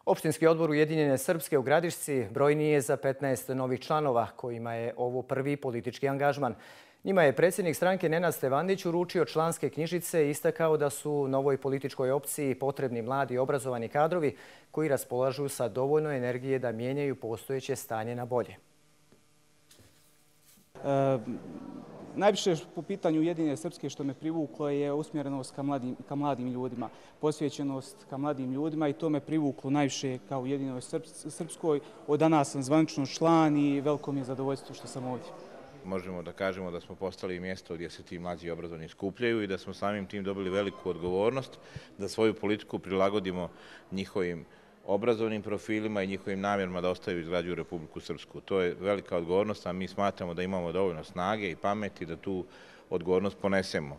Opštinski odbor Ujedinjene Srpske u Gradišci brojniji je za 15 novih članova, kojima je ovo prvi politički angažman. Njima je predsjednik stranke Nenad Stevandić uručio članske knjižice i istakao da su novoj političkoj opciji potrebni mladi i obrazovani kadrovi koji raspolažu sa dovoljno energije da mijenjaju postojeće stanje na bolje. Najviše po pitanju Ujedinjene Srpske što me privuklo je usmjerenost ka mladim ljudima, posvećenost ka mladim ljudima i to me privuklo najviše kao Ujedinjenoj Srpskoj. Od danas sam zvanično član i veliko mi je zadovoljstvo što sam ovdje. Možemo da kažemo da smo postali mjesto gdje se ti mlađi i obrazovani skupljaju i da smo samim tim dobili veliku odgovornost da svoju politiku prilagodimo njihovim obrazovnim profilima i njihovim namjerama da ostaju i izgrađuju Republiku Srpsku. To je velika odgovornost, a mi smatramo da imamo dovoljno snage i pameti da tu odgovornost ponesemo.